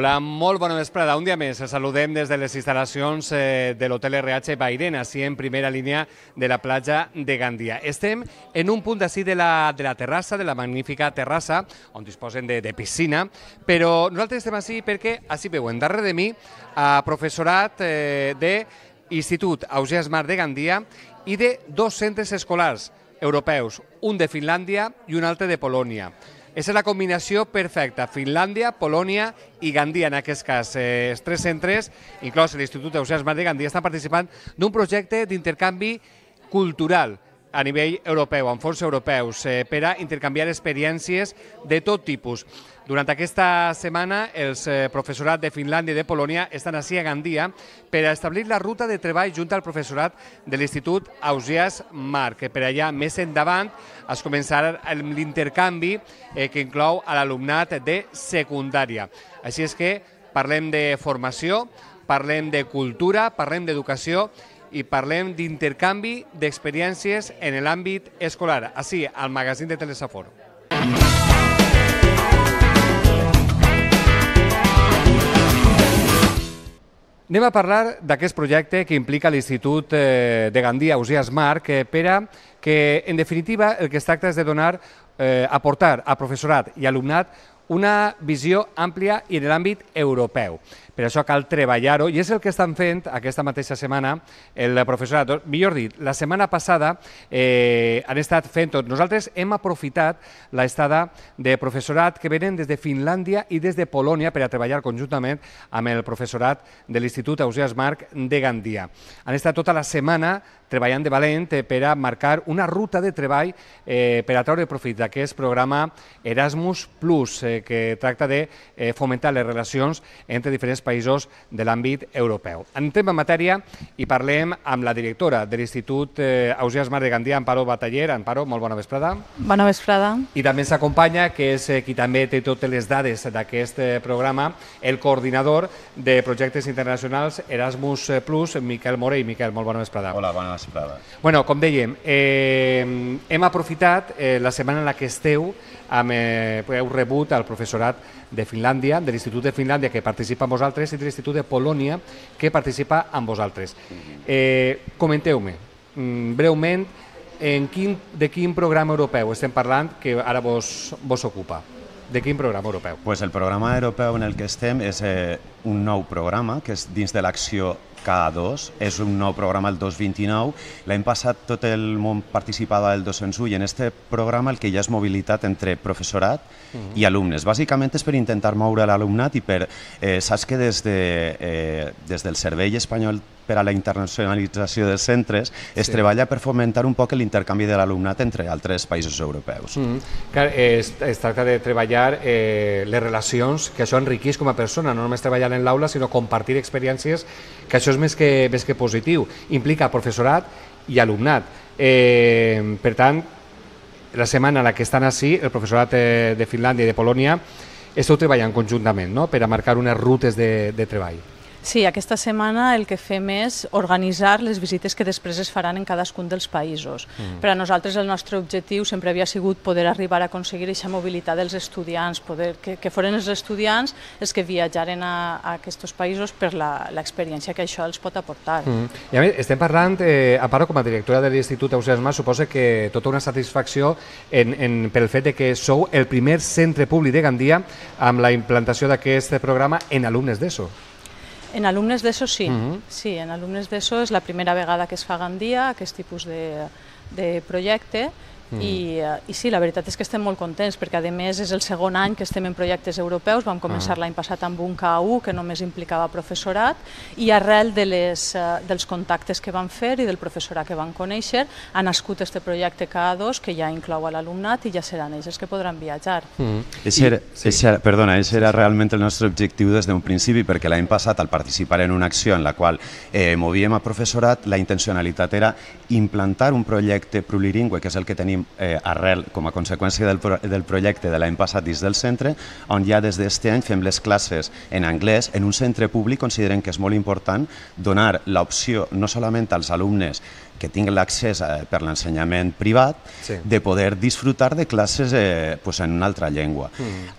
Hola, molt bona vesprada. Un dia més saludem des de les instal·lacions de l'Hotel RH Bairén, així en primera línia de la platja de Gandia. Estem en un punt d'ací de la terrassa, de la magnífica terrassa, on disposen de piscina, però nosaltres estem així perquè, així veuen, darrere de mi, professorat de l'Institut Ausiàs Marc de Gandia i de dos centres escolars europeus, un de Finlàndia i un altre de Polònia. És la combinació perfecta, Finlàndia, Polònia i Gandia, en aquest cas. Els tres centres, inclòs l'Institut Ausiàs Marc de Gandia, estan participant d'un projecte d'intercanvi cultural a nivell europeu, amb fons europeus, per a intercanviar experiències de tot tipus. Durant aquesta setmana, els professorat de Finlàndia i de Polònia estan ací a Gandia per a establir la ruta de treball junt al professorat de l'Institut Ausiàs Marc, que per allà més endavant es començarà l'intercanvi que inclou a l'alumnat de secundària. Així és que parlem de formació, parlem de cultura, parlem d'educació i parlem d'intercanvi d'experiències en l'àmbit escolar, així al magazín de Telesafor. Anem a parlar d'aquest projecte que implica l'Institut de Gandia Ausiàs Marc per a que, en definitiva, el que es tracta és de donar, aportar a professorat i alumnat una visió àmplia i en l'àmbit europeu. Per això cal treballar-ho i és el que estan fent aquesta mateixa setmana el professorat. Millor dit, la setmana passada han estat fent-ho. Nosaltres hem aprofitat l'estada de professorat que venen des de Finlàndia i des de Polònia per a treballar conjuntament amb el professorat de l'Institut Ausiàs Marc de Gandia. Han estat tota la setmana treballant de valent per a marcar una ruta de treball per a treure profit d'aquest programa Erasmus+, que tracta de fomentar les relacions entre diferents països de l'àmbit europeu. Entrem en matèria i parlem amb la directora de l'Institut Ausiàs Marc de Gandia, Amparo Bataller. Amparo, molt bona vesprada. Bona vesprada. I també ens acompanya, que és qui també té totes les dades d'aquest programa, el coordinador de projectes internacionals Erasmus+, Miquel Morell. Miquel, molt bona vesprada. Hola, bona vesprada. Bueno, com dèiem, hem aprofitat la setmana en la que esteu, heu rebut el professorat de Finlàndia, de l'Institut de Finlàndia, que participa amb vosaltres, i de l'Institut de Polònia, que participa amb vosaltres. Comenteu-me, breument, de quin programa europeu estem parlant que ara vos ocupa? De quin programa europeu? El programa europeu en el que estem és un nou programa, que és dins de l'acció K2, és un nou programa el 2029. L'any passat tot el món participava del 201 i en aquest programa el que hi ha és mobilitat entre professorat i alumnes. Bàsicament és per intentar moure l'alumnat i per... Saps que des del Servei Espanyol per a la internacionalització dels centres es treballa per fomentar un poc l'intercanvi de l'alumnat entre altres països europeus. Es tracta de treballar les relacions, que això enriquís com a persona, no només treballar en l'aula, sinó compartir experiències, que això és més que positiu. Implica professorat i alumnat. Per tant, la setmana en la que estan així, el professorat de Finlàndia i de Polònia, esteu treballant conjuntament per a marcar unes rutes de treball. Sí, aquesta setmana el que fem és organitzar les visites que després es faran en cadascun dels països. Per a nosaltres el nostre objectiu sempre havia sigut poder arribar a aconseguir aquesta mobilitat dels estudiants, que foren els estudiants els que viatjaren a aquests països per l'experiència que això els pot aportar. I a més, estem parlant, Amparo, com a directora de l'Institut Ausiàs Marc, suposa que tota una satisfacció pel fet que sou el primer centre públic de Gandia amb la implantació d'aquest programa en alumnes d'ESO. En alumnes d'ESO sí, sí, en alumnes d'ESO és la primera vegada que es fa a Gandia aquest tipus de projecte i sí, la veritat és que estem molt contents perquè a més és el segon any que estem en projectes europeus, vam començar l'any passat amb un K1 que només implicava professorat i arrel dels contactes que vam fer i del professorat que vam conèixer ha nascut aquest projecte K2 que ja inclou a l'alumnat i ja seran ells els que podran viatjar. Perdona, això era realment el nostre objectiu des d'un principi perquè l'any passat al participar en una acció en la qual movíem a professorat, la intencionalitat era implantar un projecte plurilingüe, que és el que tenim arrel com a conseqüència del projecte de l'any passat dins del centre, on ja des d'aquest any fem les classes en anglès. En un centre públic considerem que és molt important donar l'opció no solament als alumnes que tinguen l'accés per l'ensenyament privat, de poder disfrutar de classes en una altra llengua.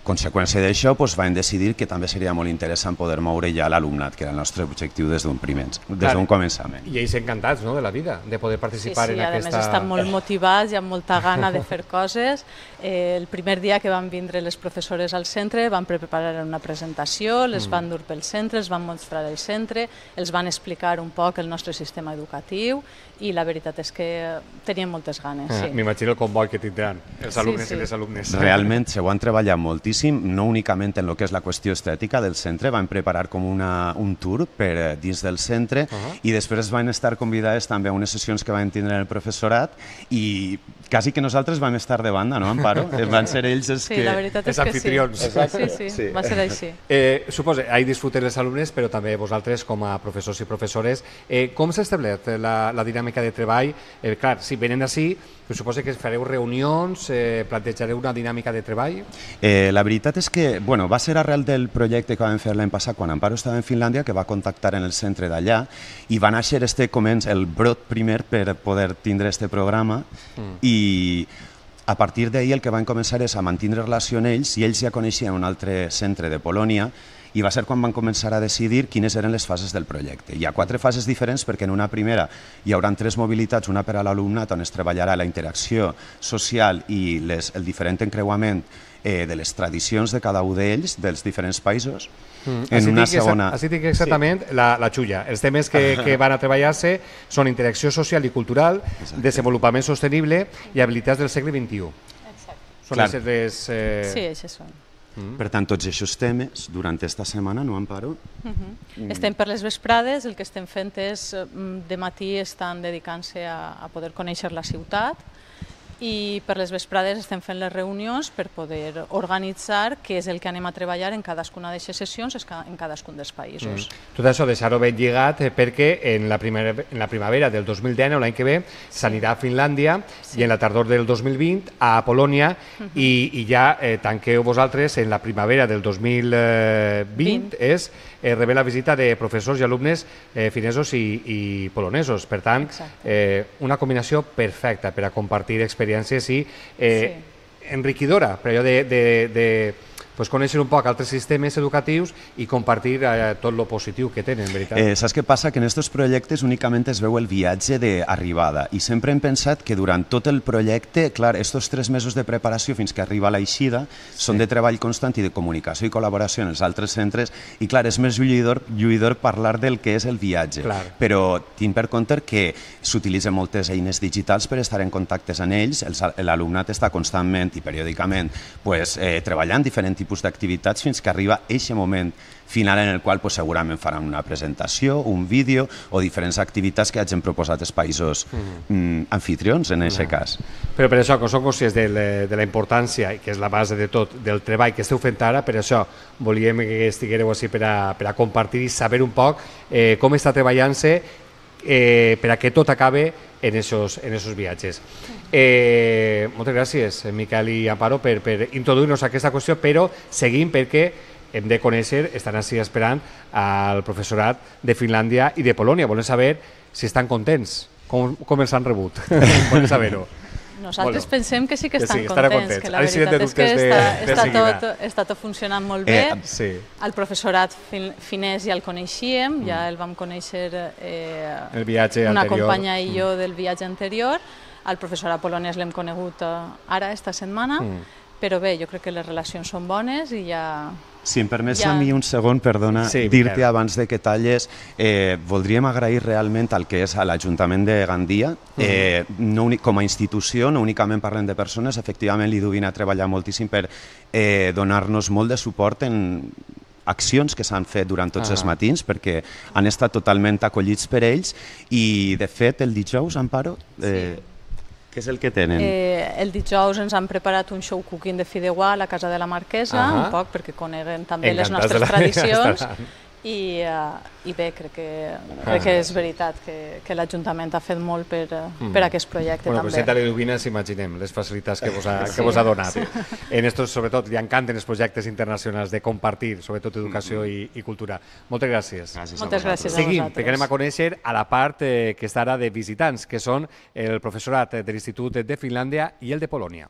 Conseqüència d'això, van decidir que també seria molt interessant poder moure ja l'alumnat, que era el nostre objectiu des d'un començament. I ells encantats de la vida, de poder participar en aquesta... Sí, a més estan molt motivats i amb molta gana de fer coses. El primer dia que van vindre les professores al centre van preparar una presentació, les van dur pel centre, els van mostrar el centre, els van explicar un poc el nostre sistema educatiu i la veritat és que tenien moltes ganes. M'imagino el comboi que tindran els alumnes i les alumnes. Realment s'ho han treballat moltíssim, no únicament en el que és la qüestió estètica del centre, van preparar com un tour per dins del centre i després van estar convidades també a unes sessions que van tindre el professorat i quasi que nosaltres vam estar de banda, no, Amparo? Van ser ells els que... Sí, la veritat és que sí. Sí, va ser així. Suposo, ahí disfruten els alumnes, però també vosaltres com a professors i professores. Com s'ha establert la dinàmica de treball? Clar, si venen així, suposo que fareu reunions, plantejareu una dinàmica de treball? La veritat és que va ser arrel del projecte que vam fer l'any passat quan Amparo estava en Finlàndia, que va contactar en el centre d'allà i va néixer el brot primer per poder tindre este programa i a partir d'ahir el que van començar és a mantenir relació amb ells i ells ja coneixien un altre centre de Polònia i va ser quan van començar a decidir quines eren les fases del projecte. Hi ha 4 fases diferents perquè en una primera hi haurà 3 mobilitats, una per a l'alumnat on es treballarà la interacció social i el diferent encreuament de les tradicions de cada un d'ells, dels diferents països. En una segona... Així tinc exactament la xulla. Els temes que van a treballar-se són interacció social i cultural, desenvolupament sostenible i habilitats del segle XXI. Són les... Sí, això són. Per tant, tots aquests temes, durant aquesta setmana, no, Amparo? Estem per les vesprades, el que estem fent és, de matí estan dedicant-se a poder conèixer la ciutat i per les vesprades estem fent les reunions per poder organitzar què és el que anem a treballar en cadascuna d'aquestes sessions en cadascun dels països. Tot això deixar-ho ben lligat perquè en la primavera del 2019, l'any que ve, s'anirà a Finlàndia i en la tardor del 2020 a Polònia i ja tanqueu vosaltres en la primavera del 2020 és rebé la visita de professors i alumnes finesos i polonesos. Per tant, una combinació perfecta per a compartir experiències i enriquidora, per allò de conèixer un poc altres sistemes educatius i compartir tot el positiu que tenen, veritat. Saps què passa? Que en aquests projectes únicament es veu el viatge d'arribada i sempre hem pensat que durant tot el projecte, clar, aquests 3 mesos de preparació fins que arriba la eixida són de treball constant i de comunicació i col·laboració en els altres centres i, clar, és més lluïdor parlar del que és el viatge. Però tinc per compte que s'utilitzen moltes eines digitals per estar en contactes amb ells, l'alumnat està constantment i periòdicament treballant diferents tipus d'activitats fins que arriba aquest moment final en el qual segurament faran una presentació, un vídeo o diferents activitats que hagin proposat els països anfitrions en aquest cas. Però per això, que som conscients de la importància, que és la base de tot, del treball que esteu fent ara, per això volíem que estiguéreu així per a compartir i saber un poc com està treballant-se per a que tot acabe en esos viatges. Moltes gràcies, Miquel i Amparo, per introduir-nos a aquesta qüestió, però seguim perquè hem de conèixer, estan així esperant al professorat de Finlàndia i de Polònia. Volem saber si estan contents, com els han rebut. Volem saber-ho. Nosaltres pensem que sí que estan contents, que la veritat és que està tot funcionant molt bé. El professorat finès ja el coneixíem, ja el vam conèixer una companya i jo del viatge anterior. El professorat polonès l'hem conegut ara, esta setmana, però bé, jo crec que les relacions són bones i ja... Si em permets a mi un segon, perdona, dir-te abans de que talles, voldríem agrair realment al que és a l'Ajuntament de Gandia. Com a institució, no únicament parlem de persones, efectivament l'IDU vine a treballar moltíssim per donar-nos molt de suport en accions que s'han fet durant tots els matins perquè han estat totalment acollits per ells i, de fet, el dijous, Amparo... Què és el que tenen? El dijous ens han preparat un show cooking de fideuà a la casa de la Marquesa, un poc perquè coneguen també les nostres tradicions, I bé, crec que és veritat que l'Ajuntament ha fet molt per aquest projecte també. Bueno, presidenta Liduvina, imaginem les facilitats que vos ha donat. En estos, sobretot, li encanten els projectes internacionals de compartir, sobretot educació i cultura. Moltes gràcies. Moltes gràcies a vosaltres. Seguim, perquè anem a conèixer a la part que està ara de visitants, que són el professorat de l'Institut de Finlàndia i el de Polònia.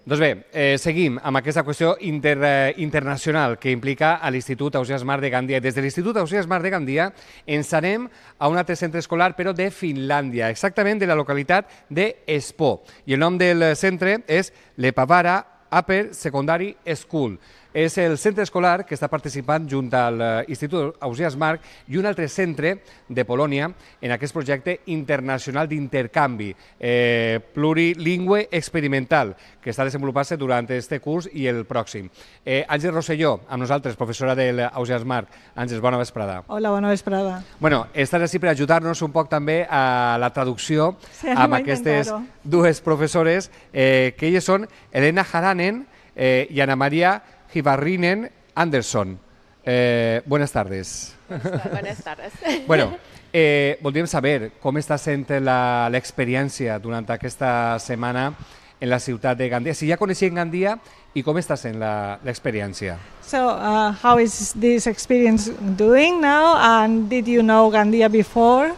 Doncs bé, seguim amb aquesta qüestió internacional que implica a l'Institut Ausiàs Marc de Gandia. Des de l'Institut Ausiàs Marc de Gandia ens anem a un altre centre escolar, però de Finlàndia, exactament de la localitat d'Espoo. I el nom del centre és Lepavaara Upper Secondary School. És el centre escolar que està participant junt a l'Institut Ausiàs Marc i un altre centre de Polònia en aquest projecte internacional d'intercanvi plurilingüe experimental que està desenvolupant-se durant aquest curs i el pròxim. Àngels Rosselló, amb nosaltres, professora de l'Ausiàs Marc. Àngels, bona vesprada. Hola, bona vesprada. Bueno, estàs així per ajudar-nos un poc també a la traducció amb aquestes dues professores, que elles són Elena Haranen i Ana Maria Hivarrinen Anderson. Buenas tardes. Buenas tardes. Bueno, voldríem saber com està sent l'experiència durant aquesta setmana en la ciutat de Gandia. Si ja coneixien Gandia i com està sent l'experiència. So, how is this experience doing now? And did you know Gandia before?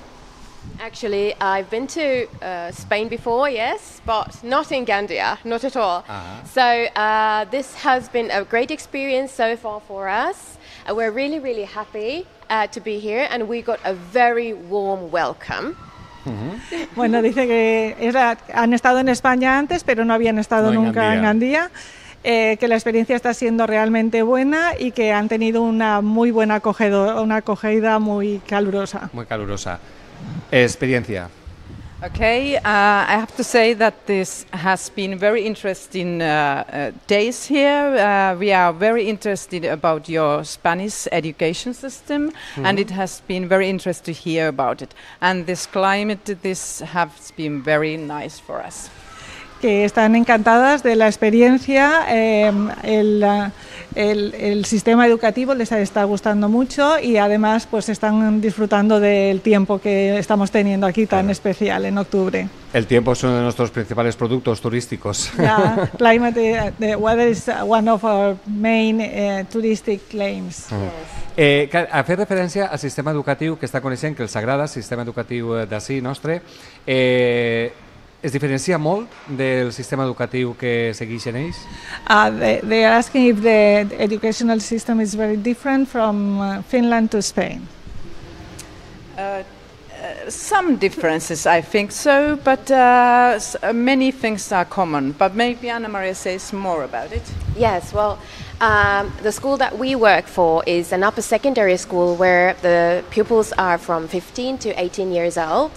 Actually, I've been to Spain before, yes, but not in Gandia, not at all. So this has been a great experience so far for us. We're really, really happy to be here, and we got a very warm welcome. Bueno, dice que han estado en España antes, pero no habían estado nunca en Gandia. Que la experiencia está siendo realmente buena y que han tenido una muy buena acogida muy calurosa. Muy calurosa. Experiencia. Okay, I have to say that this has been very interesting days here. We are very interested about your Spanish education system, and it has been very interesting to hear about it. And this climate, this has been very nice for us. Que están encantadas de la experiencia, el sistema educativo les está gustando mucho y además pues están disfrutando del tiempo que estamos teniendo aquí tan especial en octubre. El tiempo es uno de nuestros principales productos turísticos. The weather is one of our main touristic claims. A fer referència al sistema educatiu que està coneixent, que els agrada, el sistema educatiu d'ací nostre, es diferencia molt del sistema educatiu que segueixen ells? They are asking if the educational system is very different from Finland to Spain. Some differences, I think so, but many things are common. But maybe Anna Maria says more about it. Yes, well, the school that we work for is an upper secondary school where the pupils are from 15 to 18 years old.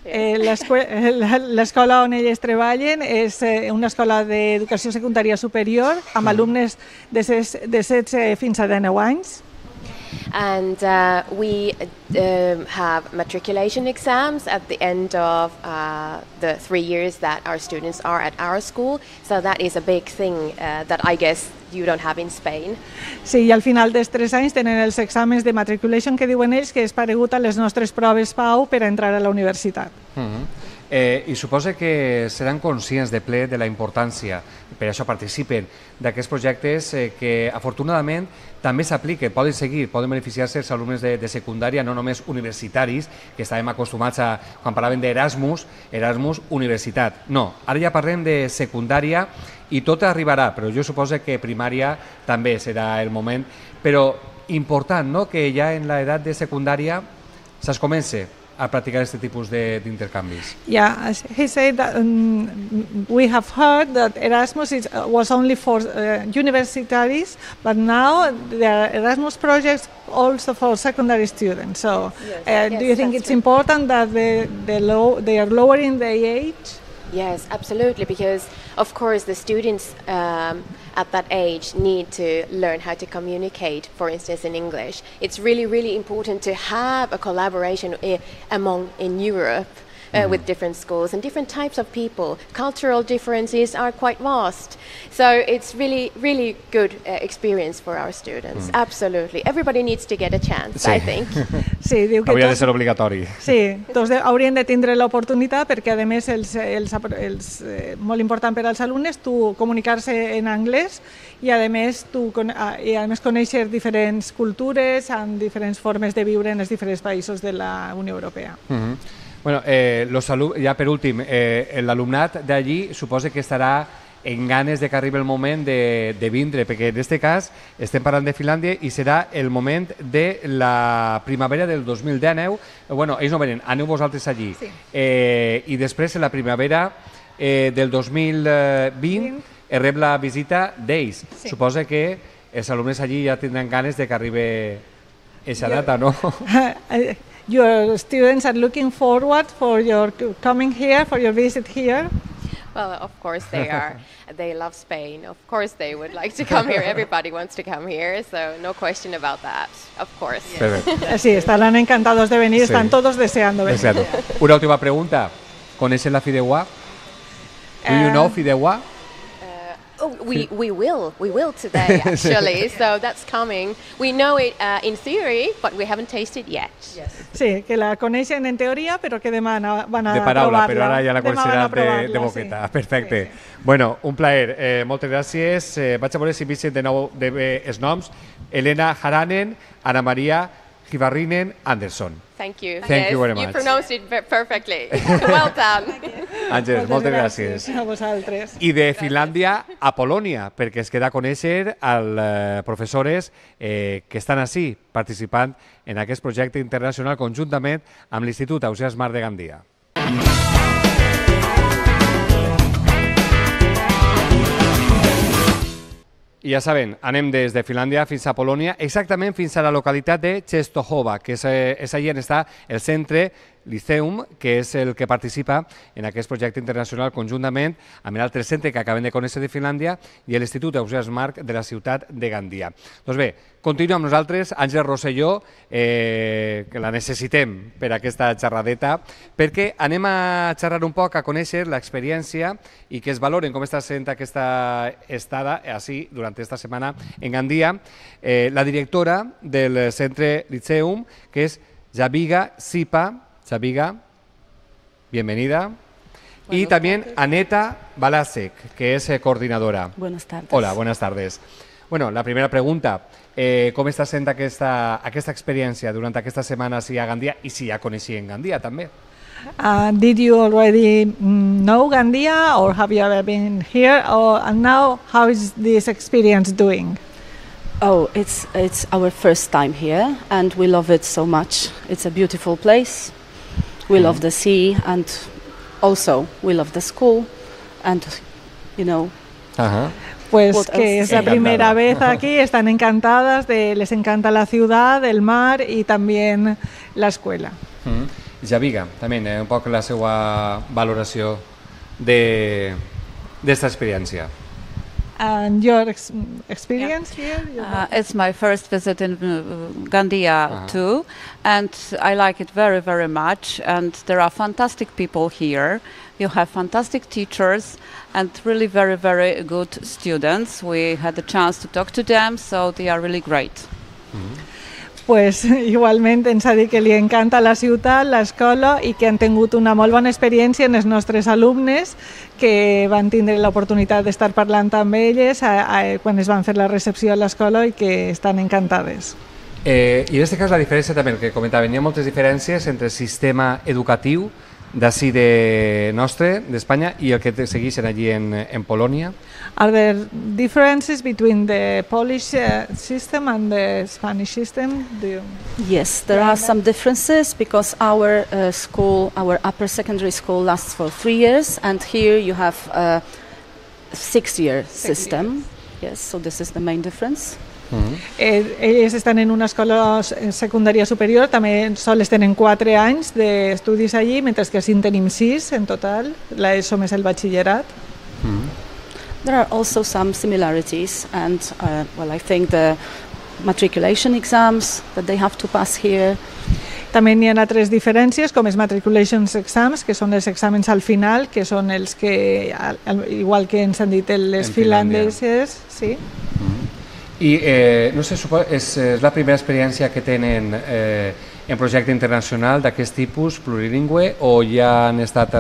L'escola on elles treballen és una escola d'educació secundària superior amb alumnes de 16 fins a 19 anys. And we have matriculation exams at the end of the 3 years that our students are at our school. So that is a big thing that I guess you don't have in Spain. Sí, i al final dels 3 anys tenen els exàmens de matriculation que diuen ells que és paregut a les nostres proves PAU per a entrar a la universitat. I suposa que seran conscients de ple de la importància, per això participen, d'aquests projectes que afortunadament també s'apliquen, poden seguir, poden beneficiar-se els alumnes de secundària, no només universitaris, que estàvem acostumats a, quan parlàvem d'Erasmus, Erasmus universitat. No, ara ja parlem de secundària i tot arribarà, però jo suposo que primària també serà el moment, però important, no?, que ja en l'edat de secundària se'ls comença a practicar este tipus d'intercanvis. Yeah, he said that we have heard that Erasmus was only for universitaries, but now there are Erasmus projects also for secondary students. So do you think it's important that they are lowering the age? Yes, absolutely, because of course the students at that age need to learn how to communicate, for instance in English. It's really, really important to have a collaboration in Europe with different schools and different types of people. Cultural differences are quite vast. So it's really, really good experience for our students. Absolutely. Everybody needs to get a chance, I think. Sí, diu que Hauria de ser obligatori. Sí, tots haurien de tindre l'oportunitat perquè, a més, molt important per als alumnes comunicar-se en anglès i, a més, conèixer diferents cultures amb diferents formes de viure en els diferents països de la Unió Europea. Bueno, ja per últim, l'alumnat d'allí suposa que estarà en ganes de que arribi el moment de vindre, perquè en aquest cas estem parlant de Finlàndia i serà el moment de la primavera del 2019. Bueno, ells no venen, aneu vosaltres allí. Sí. I després, en la primavera del 2020, rep la visita d'ells. Sí. Suposa que els alumnes allí ja tindran ganes de que arribi aquesta data, no? Your students are looking forward for your coming here, for your visit here. Well, of course they are. They love Spain. Of course they would like to come here. Everybody wants to come here, so no question about that. Of course. Sí, estarán encantados de venir, están todos deseando venir. Exacto. Una última pregunta. ¿Coneixen la Fideuà? Do you know Fideuà? We will today, actually. So that's coming. We know it in theory, but we haven't tasted yet. Sí, que la coneixen en teoria, però que demà van a de paraula, provar-la. però ara ja la coneixeran de boqueta. Sí. Perfecte. Sí. Bueno, un plaer. Moltes gràcies. Vaig a veure si visiten de nou els noms. Elena Haranen, Ana Maria Givarrinen Anderson. Thank you. Thank you very much. You pronounced it perfectly. Well done. Àngels, moltes gràcies. A vosaltres. I de Finlàndia a Polònia, perquè es queda a conèixer els professors que estan ací participant en aquest projecte internacional conjuntament amb l'Institut Ausiàs Marc de Gandia. I ja saben, anem des de Finlàndia fins a Polònia, exactament fins a la localitat de Częstochowa, que és allà on està el centre Liceum, que és el que participa en aquest projecte internacional conjuntament amb l'altre centre que acabem de conèixer de Finlàndia i l'Institut Ausiàs Marc de la ciutat de Gandia. Doncs bé, continuem amb nosaltres, Àngels Rosselló, que la necessitem per aquesta xerradeta, perquè anem a xerrar un poc, a conèixer l'experiència i que es valoren com està sent aquesta estada així durant esta setmana en Gandia. La directora del centre Liceum, que és Javiga Sipa. Javiga, bienvenida. Y también Aneta Balasek, que es coordinadora. Buenas tardes. Hola, buenas tardes. Bueno, la primera pregunta, com està sent aquesta experiència durant aquesta setmana a Gandia i si ja coneixien Gandia també? Did you already know Gandia or have you ever been here? And now, how is this experience doing? Oh, it's our first time here and we love it so much. It's a beautiful place. We love the sea and also we love the school and, you know... Pues que es la primera vez aquí, están encantadas, les encanta la ciudad, el mar y también la escuela. Javiga, també, un poc la seva valoració d'esta experiència. And your experience here? It's my first visit in Gandia too, and I like it very, very much. And there are fantastic people here. You have fantastic teachers and really very, very good students. We had the chance to talk to them, so they are really great. Pues igualment ens ha dit que li encanta la ciutat, l'escola i que han tingut una molt bona experiència en els nostres alumnes que van tindre l'oportunitat d'estar parlant amb elles quan es van fer la recepció a l'escola i que estan encantades. I en aquest cas la diferència també, el que comentaven, hi ha moltes diferències entre el sistema educatiu d'ací de nostre, d'Espanya, i el que segueixen allí en Polònia? Are there differences between the Polish system and the Spanish system? Yes, there are some differences because our school, our upper secondary school lasts for 3 years and here you have a 6-year system. Yes, so this is the main difference. Ells estan en una escola secundària superior, també sols tenen 4 anys d'estudis allí, mentre que així en tenim 6 en total, l'ESO més el batxillerat. There are also some similarities and well, I think the matriculation exams that they have to pass here. També n'hi ha altres diferències, com els matriculations exams, que són els exàmens al final, que són els que, igual que ens han dit les finlandeses, sí. I no sé, és la primera experiència que tenen en projecte internacional d'aquest tipus, plurilingüe, o ja han estat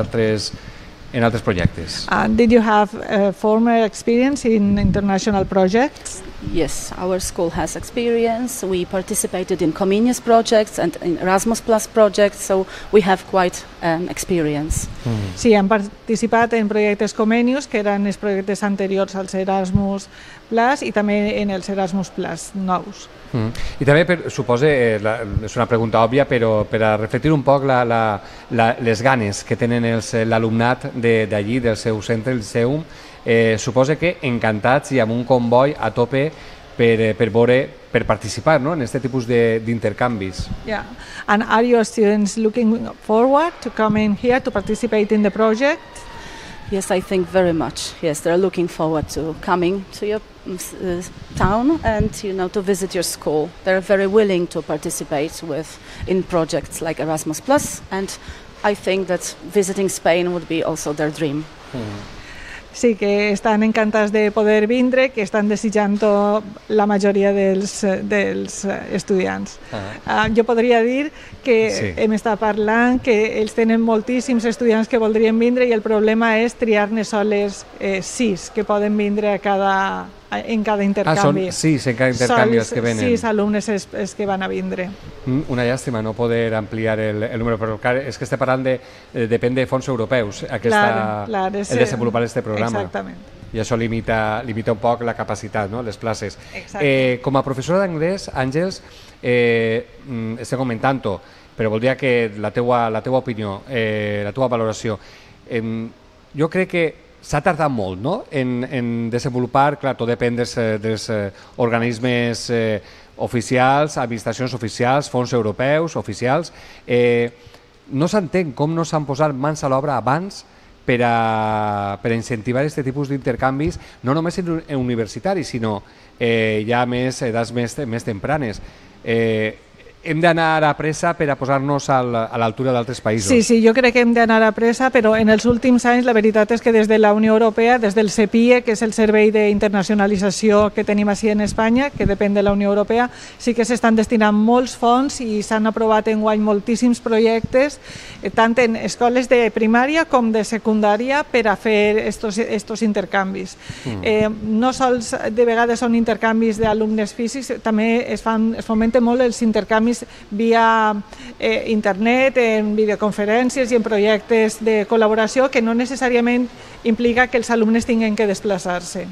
en altres projectes? Did you have former experience in international projects? Yes, our school has experience. We participated in Comenius projects and in Erasmus Plus projects, so we have quite experience. Sí, hem participat en projectes Comenius, que eren els projectes anteriors als Erasmus Plus, i també en els Erasmus Plus nous. I també, suposo, és una pregunta òbvia, però per a reflectir un poc les ganes que tenen l'alumnat d'allí, del seu centre, el SEUM, suposo que encantats i amb un comboi a tope per participar en aquest tipus d'intercanvis. Yeah. And are your students looking forward to coming here to participate in the project? Yes, I think very much. Yes, they're looking forward to coming to your town and to visit your school. They're very willing to participate in projects like Erasmus Plus, and I think that visiting Spain would be also their dream. Sí, que estan encantats de poder vindre, que estan desitjant la majoria dels estudiants. Jo podria dir que hem estat parlant que ells tenen moltíssims estudiants que voldrien vindre i el problema és triar-ne soles 6 que poden vindre en cada intercanvi. Són 6 en cada intercanvi els que venen. 6 alumnes els que van a vindre. Una llàstima no poder ampliar el número, però és que estem parlant depèn de fons europeus el desenvolupar aquest programa. Exactament. I això limita un poc la capacitat, les places. Com a professora d'anglès, Àngels, estem comentant-ho, però voldria que la teua opinió, la teua valoració. Jo crec que s'ha tardat molt en desenvolupar, clar, tot depèn dels organismes oficials, administracions oficials, fons europeus oficials. No s'entén com no s'han posat mans a l'obra abans per a incentivar aquest tipus d'intercanvis, no només en universitaris, sinó ja més edats més tempranes. Hem d'anar a pressa per a posar-nos a l'altura d'altres països. Sí, jo crec que hem d'anar a pressa, però en els últims anys la veritat és que des de la Unió Europea, des del CEPIE, que és el Servei d'Internacionalització que tenim així en Espanya, que depèn de la Unió Europea, sí que s'estan destinant molts fons i s'han aprovat enguany moltíssims projectes, tant en escoles de primària com de secundària, per a fer estos intercanvis. No sols de vegades són intercanvis d'alumnes físics, també es fomenten molt els intercanvis via internet, en videoconferències i en projectes de col·laboració que no necessàriament implica que els alumnes tinguin que desplaçar-se.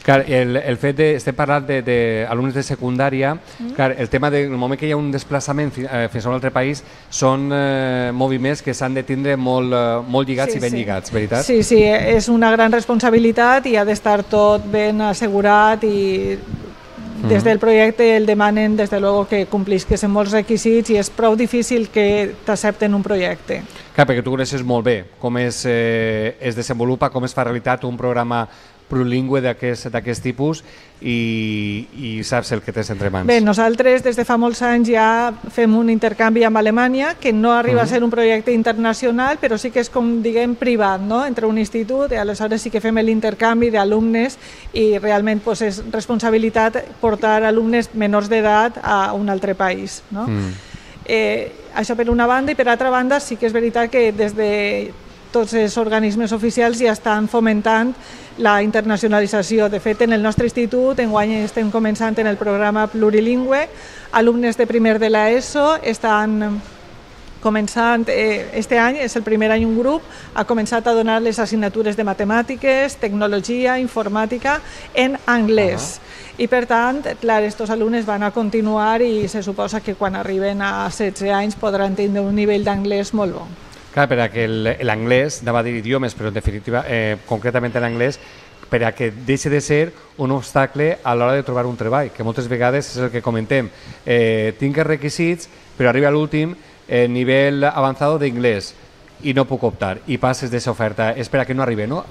Clar, el fet de... Estem parlant d'alumnes de secundària, clar, el tema del moment que hi ha un desplaçament fins a un altre país són moviments que s'han de tindre molt lligats i ben lligats, veritat? Sí, és una gran responsabilitat i ha d'estar tot ben assegurat i des del projecte el demanen des de luego que complisques en molts requisits i és prou difícil que t'accepten un projecte. Clar, perquè tu coneixes molt bé com es desenvolupa, com es fa realitat un programa plurilingüe d'aquest tipus i saps el que tens entre mans. Bé, nosaltres des de fa molts anys ja fem un intercanvi amb Alemanya que no arriba a ser un projecte internacional, però sí que és com diguem privat, entre un institut, i aleshores sí que fem l'intercanvi d'alumnes i realment és responsabilitat portar alumnes menors d'edat a un altre país. Això per una banda, i per altra banda sí que és veritat que des de tots els organismes oficials ja estan fomentant la internacionalització. De fet, en el nostre institut enguany estem començant en el programa plurilingüe. Alumnes de primer de l'ESO estan començant, este any és el primer any un grup, ha començat a donar les assignatures de matemàtiques, tecnologia, informàtica en anglès. I per tant, clar, aquests alumnes van a continuar i se suposa que quan arriben a 16 anys podran tenir un nivell d'anglès molt bo. Clar, per a que l'anglès, anava a dir idiomes, però en definitiva, concretament l'anglès, per a que deixi de ser un obstacle a l'hora de trobar un treball, que moltes vegades és el que comentem. Tinc els requisits, però arriba a l'últim nivell avançat d'inglès. i no puc optar, i passes d'aquesta oferta, és per a que no arribi, no?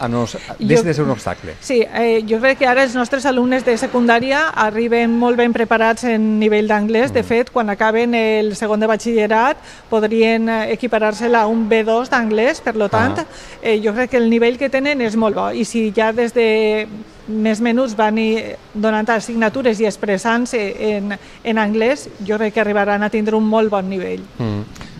Deixa de ser un obstacle. Sí, jo crec que ara els nostres alumnes de secundària arriben molt ben preparats en nivell d'anglès. De fet, quan acaben el segon de batxillerat podrien equiparar-se-la a un B2 d'anglès, per tant, jo crec que el nivell que tenen és molt bo, i si ja des de més menuts van donant assignatures i expressant-se en anglès, jo crec que arribaran a tindre un molt bon nivell.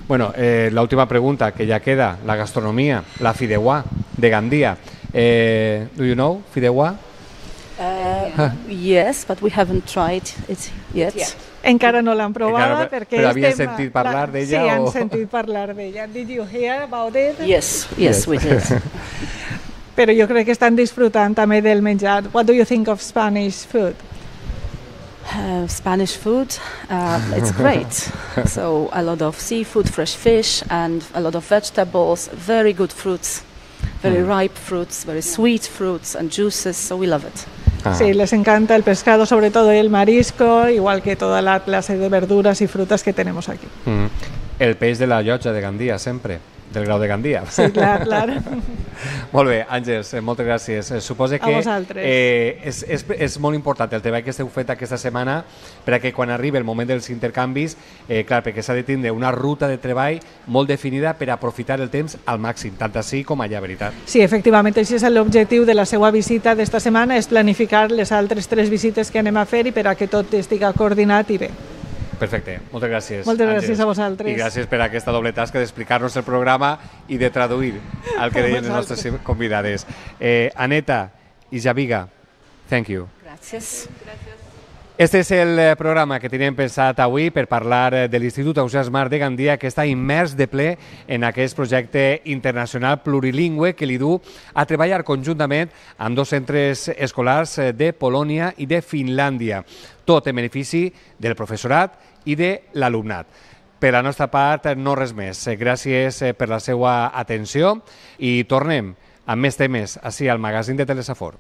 Bueno, la última pregunta que ya queda, la gastronomía, la fideuà de Gandia. Do you know fideuà? Yes, but we haven't tried it yet. Yeah. Encara no l'han provada perquè... Però havien sentit parlar d'ella? Sí, han sentit parlar d'ella. Did you hear about it? Yes, we did. Però jo crec que estan disfrutant també del menjar. What do you think of Spanish food? Spanish food, it's great. So a lot of seafood, fresh fish, and a lot of vegetables, very good fruits, very ripe fruits, very sweet fruits and juices, so we love it. Sí, les encanta el pescado, sobre todo el marisco, igual que toda la clase de verduras y frutas que tenemos aquí. El peix de la llotja de Gandia, sempre. Del grau de Gandia. Sí, clar. Molt bé, Àngels, moltes gràcies. Suposo que és molt important el treball que esteu fet aquesta setmana perquè quan arribi el moment dels intercanvis, clar, perquè s'ha de tindre una ruta de treball molt definida per aprofitar el temps al màxim, tant així com allà, veritat. Sí, efectivament, així és l'objectiu de la seva visita d'esta setmana, és planificar les altres 3 visites que anem a fer i per a que tot estigui coordinat i bé. Perfecte, moltes gràcies. Moltes gràcies a vosaltres. I gràcies per aquesta doble tasca d'explicar-nos el programa i de traduir el que deien les nostres convidades. Aneta i Javiga, thank you. Gràcies. Este és el programa que teníem pensat avui per parlar de l'Institut Ausiàs Mar de Gandia, que està immers de ple en aquest projecte internacional plurilingüe que li du a treballar conjuntament amb 2 centres escolars de Polònia i de Finlàndia, tot en benefici del professorat i de l'alumnat. Per la nostra part, no res més. Gràcies per la seva atenció i tornem amb més temes ací al magazín de Telesafor.